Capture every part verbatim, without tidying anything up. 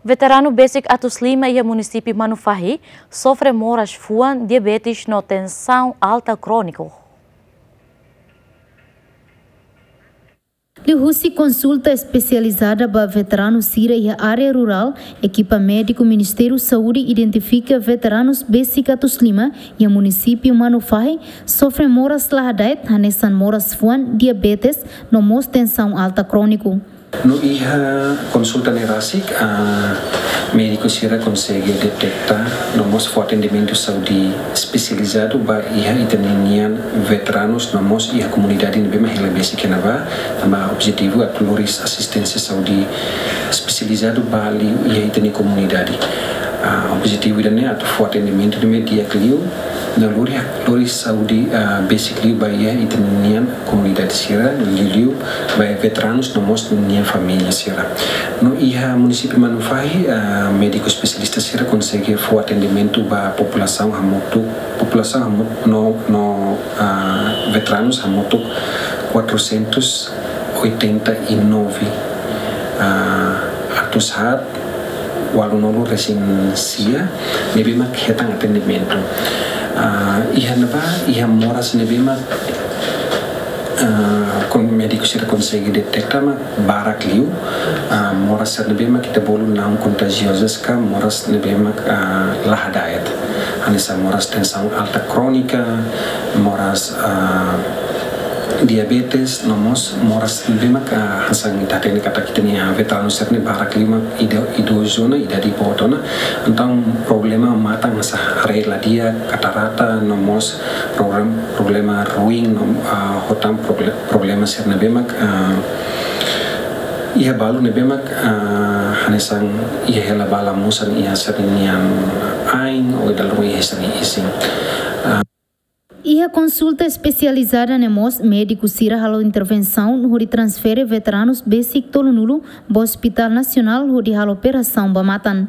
Veteranu besik atus lima iha munisípiu Manufahi sofre moras fuan, diabetes no tensaun alta króniku. Liuhusi konsulta espesializada ba veteranu sira iha área rurál, ekipa médiku Ministériu Saúde identifika veteranus besik atus lima iha munisípiu Manufahi sofre moras la hada'et, hanesan moras fuan, diabetes no mós tensaun alta króniku. No iha konsulta ne'e rasik, ah, médiku sira konsege deteta no mós fó atendimentu saúde espesializadu ba iha ita-nia veteranus no mós iha komunidade ne'ebé mak hela besik iha ne'ebá, tanba objetivu atu lori asisténsia saúde espesializadu ba liu iha ita-nia komunidade. Ah, objetivu ida-ne'e atu fó atendimentu ne'ebé di'ak liu, no lori, lori saúde, ah, besik liu ba iha ita-nia komunidade sira, liuliu ba veteranus no mós nia família sira. No iha munisípiu Manufahi, ah, médiku espesialista sira konsege fó atendimentu ba populasaun hamutuk, populasaun hamutuk no, no, ah, veteranus hamutuk quatrocentos oitenta e nove, ah, atus haat ualunulu resin sia ne'ebé mak hetan atendimentu. Ah, iha ne'ebá, iha moras ne'ebé mak, ah, kon-, médiku sira konsege deteta mak barak liu, ah, moras sira ne'ebé mak ita bolu naun kontajiozas ka moras ne'ebé mak, ah, la hada'et. Hanesan moras tensaun alta krónika, moras, ah, diabetes, no mós moras ne'ebé mak, ah, hanesan ita hatene katak ita-nia veteranu sira-ne'e barak liu mak ido-, idozu ona, idade boot ona. Entaun problema matan hanesan haree la di'ak, katarata, no mós problem-, problema ruin, no, ah, hotu proble-, problema sira ne'ebé mak, ah, iha balu ne'ebé mak, ah, hanesan iha hela ba lamusan iha sira-nia ain, ou dala ruma iha sira-nia isin. Ah, Iha konsulta espesializada ne'e mós, médiku sira halo intervensaun hodi transfere veteranus besik tolunulu ba Hospital Nasionál hodi halo operasaun ba matan.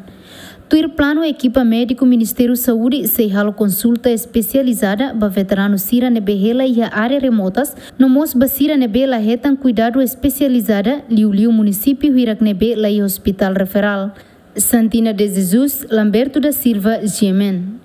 Tuir planu, ekipa médiku Ministériu Saúde sei halo konsulta espesializada ba veteranu sira ne'ebé hela iha área remotas, no mós ba sira ne'ebé la hetan kuidadu espesializada, liuliu munisípiu hirak ne'ebé la iha hospital referál. Santina de Jesus, Lamberto da Silva, G M N.